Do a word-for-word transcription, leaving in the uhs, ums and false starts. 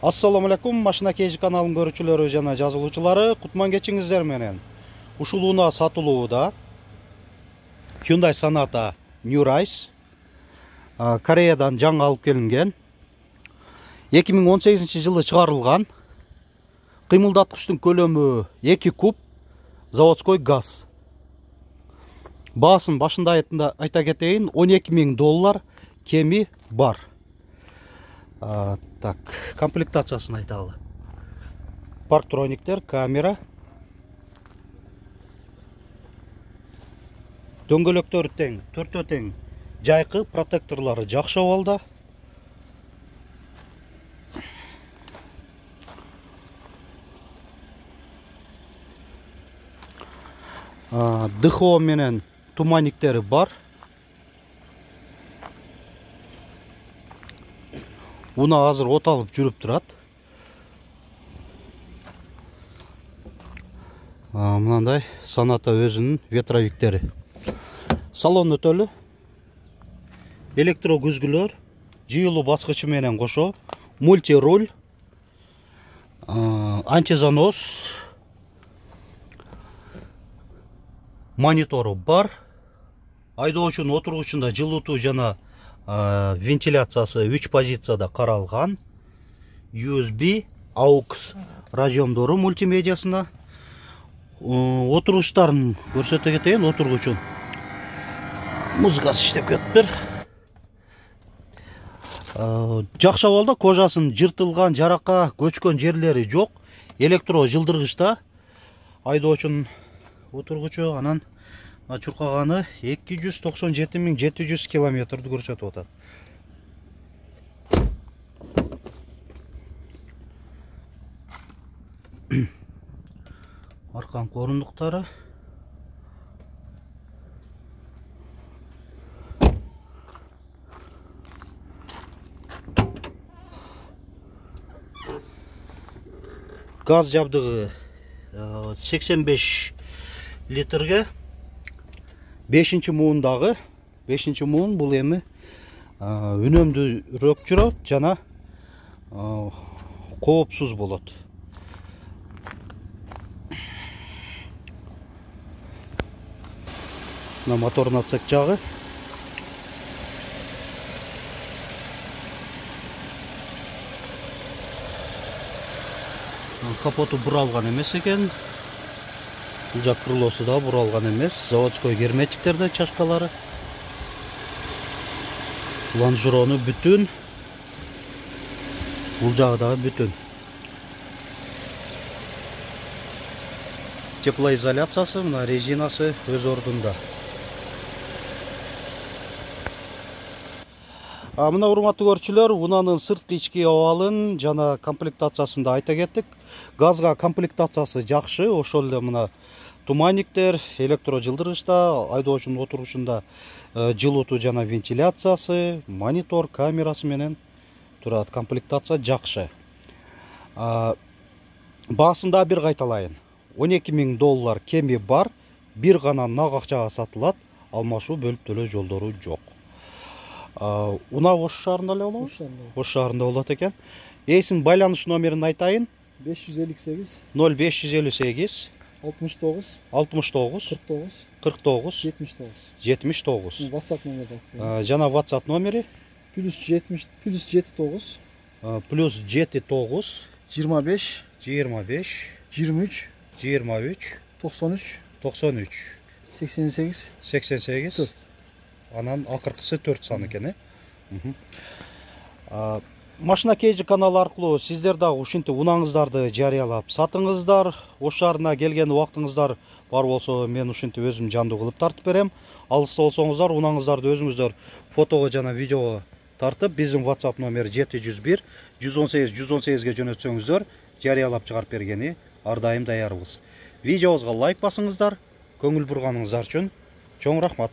Assalamu alaikum, Машина Кейжи каналынын көрүүчүлөрү жана жазылуучулары, кутман кечиңиздер менен. Ушулууна сатылууда Hyundai Sonata New Rise Кореядан жаңы алып келинген. эки миң он сегизинчи жылы чыгарылган. Кыймылдаткычтын көлөмү эки куб, заводской газ. Баасын башында айта кетейин, он эки миң доллар, кеми бар. А, так, комплектациясын айталы. Парктрониктер, камера. Дөңгөлөктөрү тең, төртөө тең. Жайкы, протекторлары жакшы абалда. ДХО менен туманниктери бар. Уна азыр от алып жүрүп турат. Мынандай Sonata өзүнүн ветровиктери. Салон өтөлү. Электро күзгүлөр, жыйылуу баскычы менен кошо, мульти-руль, антизанос, монитору бар. Айдоочунун отургучунда жылытуу жана вентиляциясы үч позицияда каралган. ю эс би, aux разъемдору мультимедиасына. Отургучтарын көрсөтө кетейин, отургучун. Музыкасы иштеп кетиптир. Жакшы абалда, кожасын жыртылган, жаракка көчкөн жерлери жок. Электро жылдыргычта. Айдоочунун отургучу анан чуркаганы эки жүз токсон жети миң жети жүз километрди көрсөтүп атат. Арканкы орундуктары. Газ жабдыгы сексен беш литрге. бешинчи муундагы, бешинчи муун бул эми үнөмдүүрөөк жүрөт жана коопсуз болот. Мына моторун отсек жагы. Капоту буралган эмес экен. Бул жак крылосу да буралган эмес. Заводской герметиктерде чашкалары. Лонжерону бүтүн. Бул жагы дагы бүтүн. Теплоизоляциясы, мына резинасы өз ордунда. Мына урматтуу көрүүчүлөр, унанын сырткы ички абалын жана комплектациясын да айта кеттик. Газга комплектациясы жакшы, ошол эле мына туманниктер, электро жылдыргычта, айдоочунун отургучунда жылытуу жана вентиляциясы, монитор, камерасы менен турат. Комплектация жакшы. Баасын да бир кайталайын. он эки миң доллар кеми бар, бир гана нак акчага сатылат, алмашуу бөлүп төлөө жолдору жок. Уна Ош шаарында эле болобу? Ош шаарында болот экен. Эсин байланыш номерин айтайын. беш жүз элүү сегиз ноль беш жүз элүү сегиз алтымыш тогуз алтымыш тогуз кырк тогуз кырк тогуз жетимиш тогуз жетимиш тогуз. WhatsApp номери. Жана WhatsApp номери плюс жетимиш плюс жети тогуз плюс жети тогуз жыйырма беш жыйырма беш жыйырма үч жыйырма үч токсон үч токсон үч сексен сегиз сексен сегиз. Анан акыркысы төрт сан экен, э? Машина Кейжи каналы аркылуу сиздер дагы ушинтип унаңыздарды жарыялап сатыңыздар. Ош шаарына келген убактыңыздар бар болсо, мен ушинтип өзүм жандуу кылып тартып берем. Алыста болсоңуздар, унаңыздарды өзүңүздөр фотого жана видеого тартып, биздин WhatsApp номер жети жүз бир жүз он сегиз жүз он сегизге жөнөтсөңүздөр, жарыялап чыгарып бергени ар дайым даярбыз. Видеобузга лайк басыңыздар. Көңүл бурганыңыздар үчүн чоң рахмат.